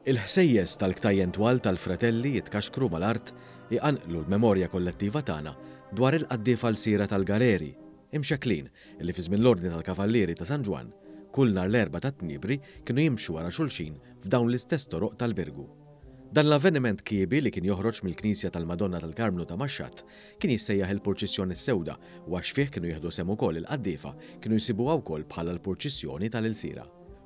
Il-ħsejjes tal-ktajjen twal tal-fratelli jitkaxkru mal-art iqanqlu l-memorja kollettiva tagħna dwar il-qaddiefa lsiera tal-galeri, imxekklin, li fi żmien l-Ordni tal-Kavallieri ta' San Ġwann, kull nhar l-Erbgħa tat-Tniebri kienu jimxu wara xulxin f'dawn l-istess toroq tal-Birgu. Dan l-avveniment kiebi li kien joħroġ mill-Knisja tal-Madonna tal-Karmnu ta' Maxxatt kien jissejjaħ il-Purċissjoni s-Sewda u għax fih kienu jieħdu sehem ukoll il-qaddiefa kienu jsibuha wkoll bħala l-Purċissjoni tal-Ilsiera.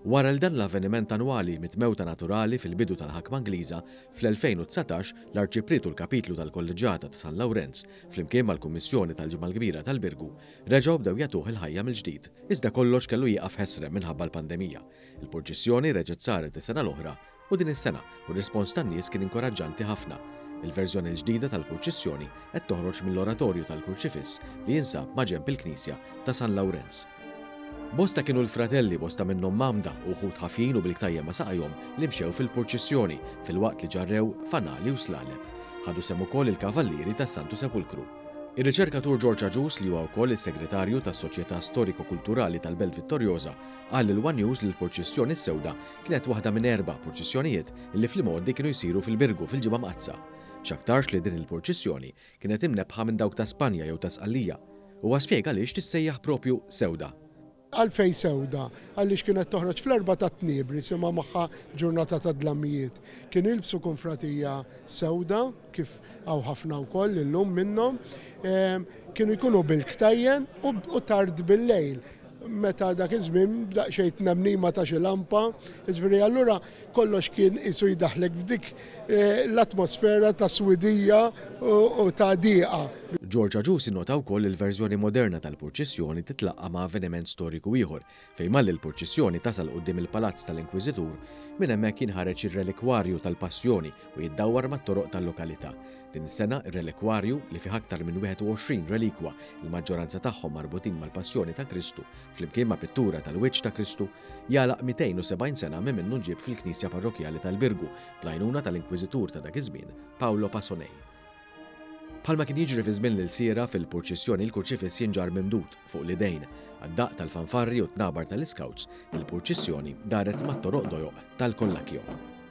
Wara li dan l-avveniment annwali miet mewta naturali fil-bidu tal-ħakma Ingliża, fl-2019 l-Arċipriet u l-Kapitlu tal-Kolleġġjata ta' San Lawrenz, flimkien mal-Kummissjoni tal-Ġimgħa l-Kbira tal-Birgu, reġgħu bdew jagħtuh il-ħajja mill-ġdid. Iżda kollox kellu jieqaf ħesrem minħabba l-pandemija. Il-purċissjoni reġgħet saret is-sena l-oħra u din is-sena, u r-rispons tan-nies kien inkoraġġanti ħafna. Il-verżjoni l-ġdida tal-purċissjoni qed toħroġ mill-Oratorju tal-Kurċifiss li jinsab maġenb il-Knisja ta' San Lawrenz. Bosta kienu l-fratelli, bosta minnhom mgħammda u wħud ħafjin u bil-ktajjen ma' saqajhom li mxew fil-purċissjoni filwaqt li ġarrew fanali u slaleb. Ħadu sehem ukoll il-Kavallieri tas-Santu Sepulkru. Ir-riċerkatur George Agius li huwa wkoll is-Segretarju tas-Soċjetà Storiko-Kulturali tal-Belt Vittoriosa qal lil one News li l-purċissjoni s-sewda Kienet waħda minn erba' purċissjonijiet li fl-imgħoddi kienu jsiru fil-Birgu fil-Ġimgħa Mqaddsa. X'aktarx li din il-purċissjoni kienet imnebbħa minn dawk ta' Spanja jew ta' Sqallija. Huwa spjega għaliex tissejjaħ propju sewda. Għalfejn sewda? Għaliex kienet toħroġ fl-erbgħa tat-tniebri, simgħa magħha ġurnata ta' dlamijiet. Kienu jilbsu kunfratija sewda, kif hawn ħafna wkoll illum minnhom. Kienu jkunu bil-ktajjen u tard bil-lejl. Meta dak iż-żmien b'daqsxejn tnemnima ta' xi lampa, jiġifieri allura kollox kien qisu jdaħħlek f'dik l-atmosfera ta' swidija u ta' dieqa. George Agius innota wkoll li l-verżjoni moderna tal-purċissjoni titlaqqa' ma' avveniment storiku ieħor, fejn malli l-purċissjoni tasal quddiem il-Palazz tal-Inkwiżitur, minn hemmhekk jinħareġ ir-relikwarju tal-Passjoni u jiddawwar mat-toroq tal-lokalità. Din is-sena, ir-relikwarju, li fih aktar minn 21 relikwa, il-maġġoranza tagħhom marbutin mal-Passjoni ta' Kristu, flimkien ma' pittura tal-wiċċ ta' Kristu, jagħlaq 270 sena minn minnu nġieb fil-Knisja Parrokkjali tal-Birgu bl-għajnuna tal-Inkwiżitur ta' dak iż-żmien, Paolo Pasonei. Bħalma kien jiġri fi żmien l-ilsiera, fil-purċissjoni l-kurċifiss jinġarr mimdud, fuq l-idejn. Għad-daqq tal-fanfarri u t-tnabar tal-iscouts, il-purċissjoni daret mat-toroq dojoq tal-Collacchio.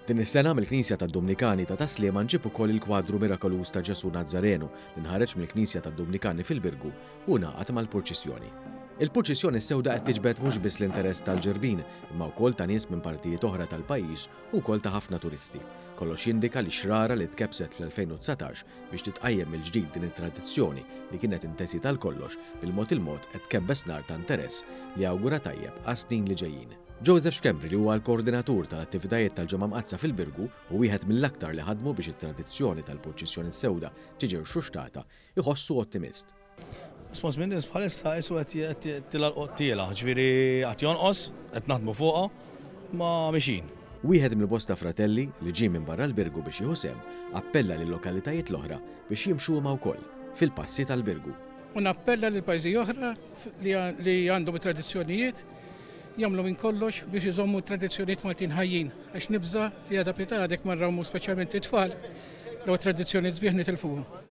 Din is-sena mill-Knisja tad-Dumnikani ta' Tas-Sliema nġieb ukoll il-kwadru mirakoluż ta' Ġesù Nazzarenu li nħareġ mill-Knisja tad-Dumnikani fil-Birgu u ngħaqad mal-purċissjoni. Il-purċissjoni s-sewda qed tiġbed mhux biss l-interess tal-Ġirbin imma wkoll ta' nies minn partijiet oħra tal-pajjiż u wkoll ta' ħafna turisti. Kollox jindika li x-xrara li tkebbset fl-2019 biex titqajjem mill-ġdid din it-tradizzjoni li kienet intesiet għal kollox bil-mod il-mod qed tkebbes nar ta' interess li jawgura tajjeb għas-snin li ġejjin. Joseph Schembri li huwa l-koordinatur tal-attivitajiet tal-Ġimgħa Mqaddsa fil-Birgu u wieħed mill-aktar li ħadmu biex it-tradizzjoni tal-purċissjoni s-sewda tiġi rxuxtata, iħossu ottimist. Rispons min-nies bħalissa qisu qed tilgħa l-qottiela, ġifieri qed jonqos, qed naħdmu fuqha, imma mixjin. Wieħed mill-bosta fratelli, li ġie minn barra l-Birgu biex jieħu sehem, appella lil-lokalitajiet l-oħra biex jimxu huma wkoll fil-passi tal-Birgu. U nappella lil pajjiżi oħra li għandhom it-tradizzjonijiet jagħmlu minn kollox biex iżommu t-tradizzjonijiet Maltin ħajjin għax nibża' li għada pitgħada jekk ma nrawmu speċjalment it-tfal dawn it-tradizzjonijiet sbieħ nitilfuhom.